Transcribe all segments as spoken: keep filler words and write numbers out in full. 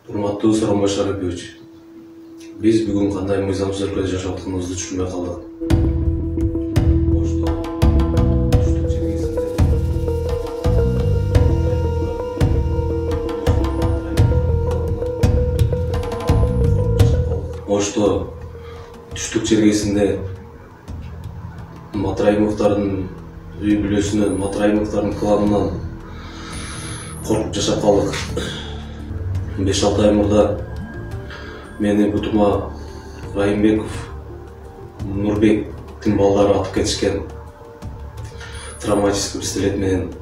Урматтуу Сооронбай Шарипович, биз бүгүн кандай мыйзамсыз өлкөдө жашап атканыбызды түшүнбөй калдык. Ошто түштүк чергесинде Матраимовдордун үй бүлөсүнөн, Матраимовдордун кланынан коркуп жашап калдык. беш алты ай мурда мени бутума Райымбеков, Нурбектин балдары атып кетишкен. Травматический пистолет менен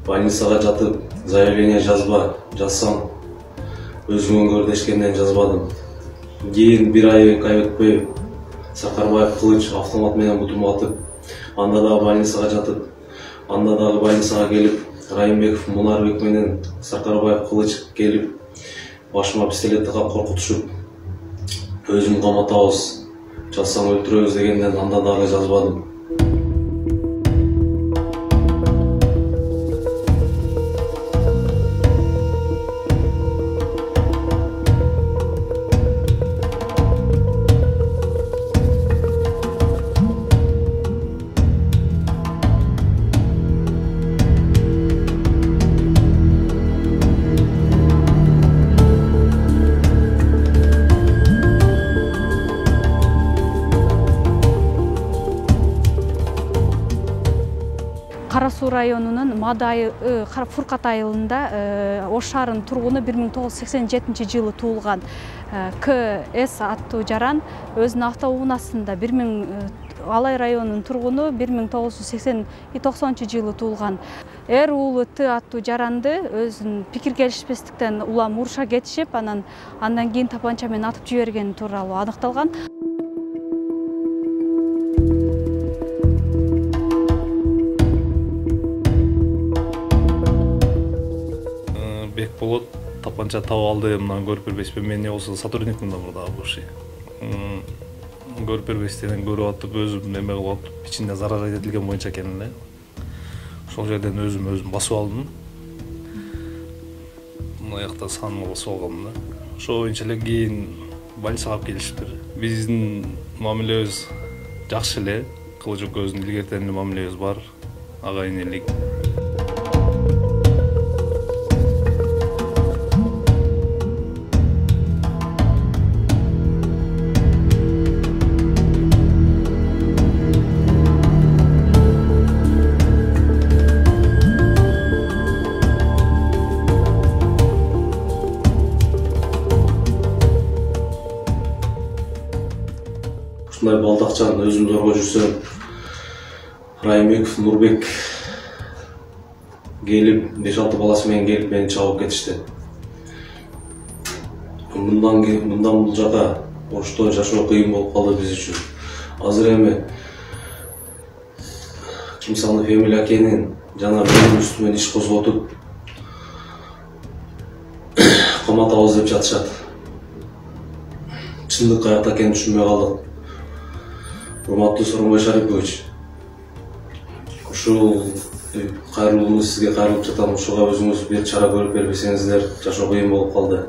больницага жатып, заявление жазба, жазсам өзүңөн көр дешкенден жазбадым. Кийин бир ай эки ай өтпөй Сакарбаев кылыч автомат менен бутума атып, анда дагы больницага жатып, анда дагы больницага келип, Райымбеков, Мунарбек менен Сакарбаев кылыч келип, башыма пистолет тагып коркутушуп, өзүм каматабыз, жазсаң өлтүрөбүз дегенден анда дагы жазбадым. Кара Суу районунун Мадай Фуркат айылында Ош шаарынын тургуну бир миң тогуз жүз сексен жетинчи жылы туулган К С аттуу жаран өзүнүн автоунаасында бир миң Алай районунун тургуну бир миң тогуз жүз сексен токсонунчу жылы туулган Р уулу Т аттуу жаранды өзүнүн пикир келишпестиктен улам уруша кетишип, анан андан кийин тапанча менен атып жибергени тууралуу аныкталган. Бекболот тапанча таап алды, мына көрүп бербейсизби, мен эмне болсо сотрудникмин да мурда бывший. Көрүп бербейсизден көрүп атып, өзүм неме кылып атып, ичинде зарар этилген боюнча экен эле. Ошол жерден өзүм өзүм басып алдым. Мына жакта санымды басып алгам да. Ошол боюнча эле кийин больницага алып келишиптир. Биздин мамилебиз жакшы эле, Кылыч экөөбүздүн илгертен эле мамилебиз бар, агайын элек. Ушундай балдакчан өзүм зорго жүрсөм, Райымбеков, Нурбек келип, беш алты баласы менен келип мени чабып кетишти. Мындан мындан бул жака Ошто жашоо кыйын болуп калды биз үчүн. Азыр эми Кимсанов Эмиль акенин жана менин үстүмөн иш козготуп, каматабыз деп жатышат. Чындык каякта экенин түшүнбөй калдык. Урматтуу Сооронбай Шарипович, ушул кайрылууну сизге кайрылып жатам, ушуга өзүңүз бир чара көрүп бербесеңиздер, жашоо кыйын болуп калды.